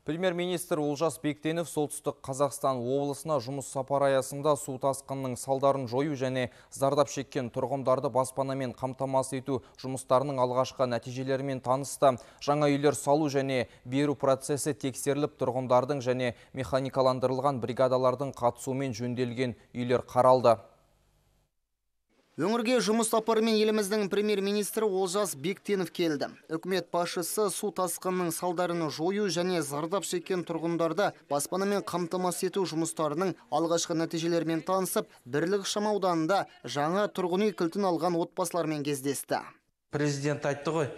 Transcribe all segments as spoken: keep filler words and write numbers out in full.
Премьер-министр Олжас Бектенов солтүстік Қазақстан облысына жұмыс сапары аясында су тасқынының салдарын жою және зардап шеккен тұрғындарды баспанамен қамтамасыз ету жұмыстарының алғашқы нәтижелерімен танысты. Жаңа үйлер салу және беру процесі тексеріліп, тұрғындардың және механикаландырылған бригадалардың қатысуымен жөнделген үйлер қаралды. Өңірге жұмыс сапарымен еліміздің премьер-министрі Олжас Бектенов келді. Үкімет басшысы су тасқынының салдарын жою және зардап шеккен тұрғындарды баспанамен қамтамасыз ету жұмыстарының алғашқы нәтижелерімен танысып, Бірлік ықшамауданында жаңа тұрғын үй кілтін алған отбасылармен кездесті. Президент айтты ғой,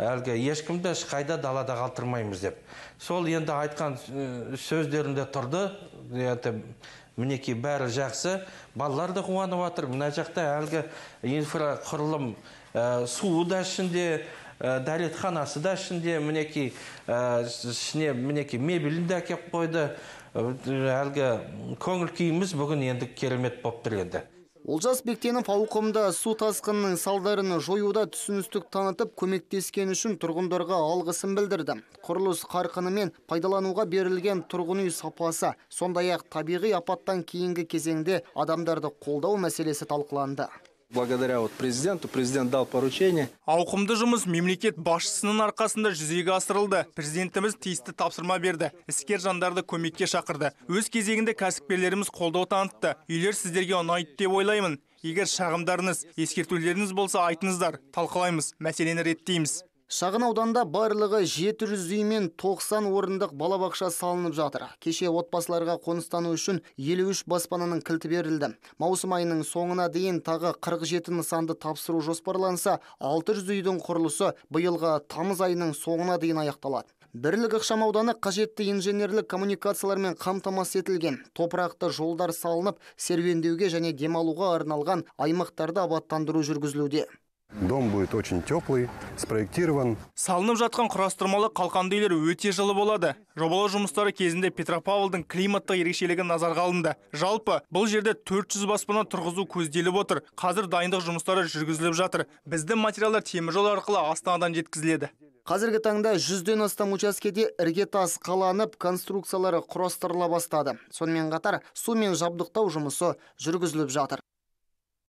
әлгі ешкімді ешқайда далада қалдырмаймыз деп. Сол енді айтқан сөздерінде тұрды. Мінеки бәрі жақсы, балалар да қуанып жатыр. Мына жақта әлгі инфрақұрылым суы да ішінде, дәретханасы да ішінде, мінеки ішіне мінеки мебелін де әкеп қойды. Әлгі көңіл күйіміз бүгін енді керемет болып тұр еді. Олжас Бектенов ауқымды су тасқынының салдарын жоюда түсіністік танытып, көмектескен үшін тұрғындарға алғысын білдірді. Құрылыс қарқыны мен пайдалануға берілген тұрғын үй сапасы, сондай-ақ табиғи апаттан кейінгі кезеңде адамдарды қолдау мәселесі талқыланды. Благодаря вот президенту, президент дал поручение. Ауқымды жұмыс мемлекет басшысының арқасында жүзеге асырылды. Президентіміз тиісті тапсырма берді. Іскер жандарды көмекке шақырды. Өз кезегінде кәсіпкерлеріміз қолдау танытты. Үйлер сіздерге ұнайды деп ойлаймын. Егер шағымдарыңыз, ескертулеріңіз болса айтыңыздар, талқылаймыз, мәселені реттейміз. Шағын ауданда барлығы жеті жүз үй мен тоқсан орындық балабақша салынып жатыр. Кеше отбасыларға қоныстану үшін елу үш баспананың кілті берілді. Маусым айының соңына дейін тағы қырық жеті нысанды тапсыру жоспарланса, алты жүз үйдің құрылысы биылғы тамыз айының соңына дейін аяқталады. Бірлік ықшамауданы қажетті инженерлік коммуникациялармен қамтамасыз етілген. Топырақты жолдар салынып, серуендеуге және демалуға арналған аймақтарды абаттандыру жүргізілуде. Дом будет очень теплый, спроектирован. Салынып жатқан құрастырмалы қалқанды үйлер өте жылы болады. Жобалау жұмыстары кезінде Петропавлдың климаттық ерекшелігі назарға алынды. Жалпы, бұл жерде төрт жүз баспана тұрғызу көзделіп отыр. Қазір дайындық жұмыстары жүргізіліп жатыр. Біздің материалдар теміржол арқылы Астанадан жеткізіледі. Қазіргі таңда жүзден астам учаскеде іргетас қаланып, конструкциялары құрастырыла бастады. Сонымен қатар су мен жабдықтау жұмысы жүргізіліп жатыр.